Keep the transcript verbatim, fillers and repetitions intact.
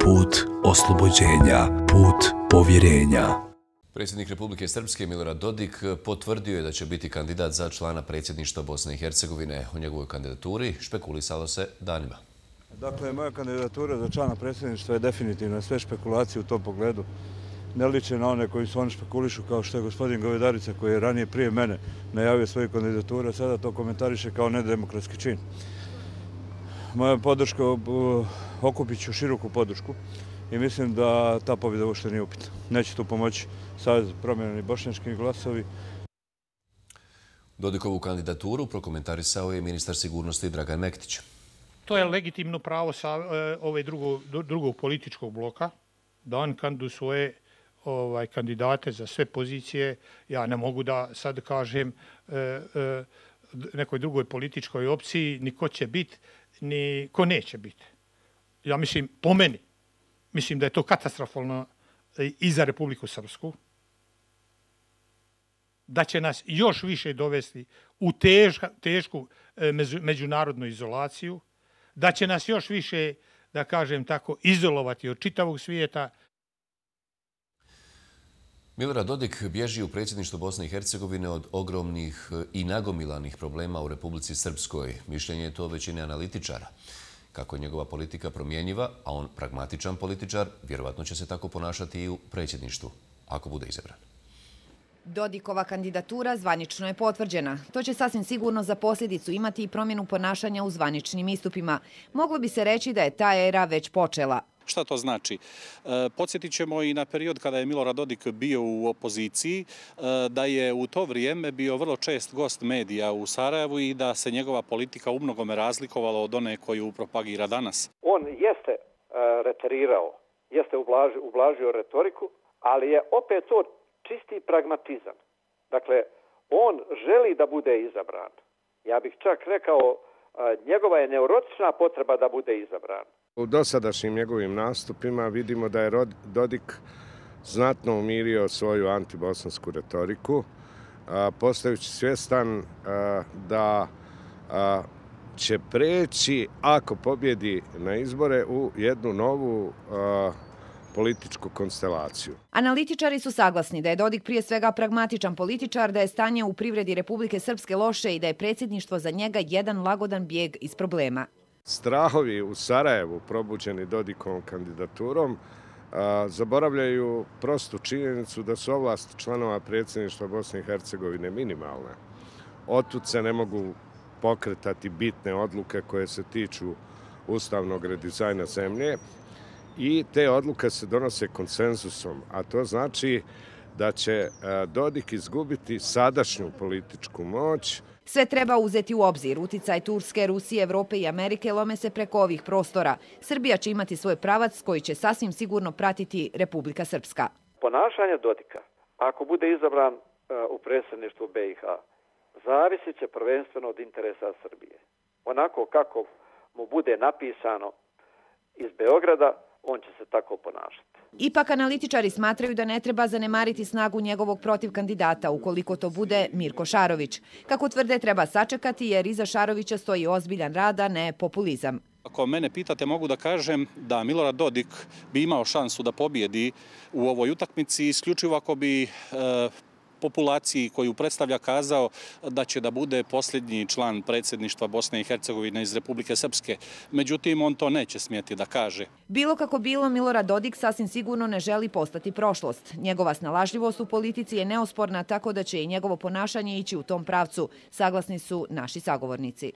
put oslobođenja, put povjerenja. Predsjednik Republike Srpske Milorad Dodik potvrdio je da će biti kandidat za člana predsjedništva Bosne i Hercegovine. O njegovoj kandidaturi špekulisalo se danima. Dakle, moja kandidatura za člana predsjedništva je definitivno. Sve špekulacije u tom pogledu ne liče na one koji su oni špekulišu, kao što je gospodin Govedarica, koji je ranije prije mene najavio svoju kandidaturu, a sada to komentariše kao nedemokratski čin. Moja podrška, okupit ću široku podršku i mislim da ta pobjeda uopšte nije upitna. Neće tu pomoći Savez promijenjeni bošnjački glasovi. Dodikovu kandidaturu prokomentarisao je ministar sigurnosti Dragan Mektić. To je legitimno pravo sa ove drugog, drugog političkog bloka da on kandiduje svoje ovaj, kandidate za sve pozicije. Ja ne mogu da sad kažem e, e, nekoj drugoj političkoj opciji ni ko će biti, ni ko neće biti. Ja mislim, po meni, mislim da je to katastrofalno i za Republiku Srpsku, da će nas još više dovesti u težka, tešku međunarodnu izolaciju, da će nas još više, da kažem tako, izolovati od čitavog svijeta. Milorad Dodik bježi u predsjedništvo Bosne i Hercegovine od ogromnih i nagomilanih problema u Republici Srpskoj. Mišljenje je to većine analitičara. Kako je njegova politika promjenjiva, a on pragmatičan političar, vjerovatno će se tako ponašati i u predsjedništvu, ako bude izabran. Dodikova kandidatura zvanično je potvrđena. To će sasvim sigurno za posljedicu imati i promjenu ponašanja u zvaničnim istupima. Moglo bi se reći da je ta era već počela. Šta to znači? E, podsjetit ćemo i na period kada je Milorad Dodik bio u opoziciji, e, da je u to vrijeme bio vrlo čest gost medija u Sarajevu i da se njegova politika u mnogome razlikovala od one koju propagira danas. On jeste e, reterirao, jeste ublažio, ublažio retoriku, ali je opet to čisti pragmatizam. Dakle, on želi da bude izabran. Ja bih čak rekao, e, njegova je neurotična potreba da bude izabran. U dosadašnjim njegovim nastupima vidimo da je Dodik znatno umirio svoju antibosansku retoriku, postajući svjestan da će preći, ako pobjedi na izbore, u jednu novu političku konstelaciju. Analitičari su saglasni da je Dodik prije svega pragmatičan političar, da je stanje u privredi Republike Srpske loše i da je predsjedništvo za njega jedan lagodan bijeg iz problema. Strahovi u Sarajevu, probuđeni Dodikovom kandidaturom, zaboravljaju prostu činjenicu da su ovlasti članova predsjedništva Bosne i Hercegovine minimalne. Otud se ne mogu pokretati bitne odluke koje se tiču ustavnog redizajna zemlje i te odluke se donose konsenzusom, a to znači da će Dodik izgubiti sadašnju političku moć. Sve treba uzeti u obzir. Uticaj Turske, Rusije, Evrope i Amerike lome se preko ovih prostora. Srbija će imati svoj pravac koji će sasvim sigurno pratiti Republika Srpska. Ponašanje Dodika, ako bude izabran u predsjedništvu B i H, zavisit će prvenstveno od interesa Srbije. Onako kako mu bude napisano iz Beograda, on će se tako ponašati. Ipak analitičari smatraju da ne treba zanemariti snagu njegovog protivkandidata ukoliko to bude Mirko Šarović. Kako tvrde, treba sačekati jer iza Šarovića stoji ozbiljan rad, a ne populizam. Ako mene pitate, mogu da kažem da Milorad Dodik bi imao šansu da pobjedi u ovoj utakmici isključivo ako bi e, populaciji koju predstavlja kazao da će da bude posljednji član predsjedništva Bosne i Hercegovine iz Republike Srpske. Međutim, on to neće smjeti da kaže. Bilo kako bilo, Milorad Dodik sasvim sigurno ne želi postati prošlost. Njegova snalažljivost u politici je neosporna, tako da će i njegovo ponašanje ići u tom pravcu. Saglasni su naši sagovornici.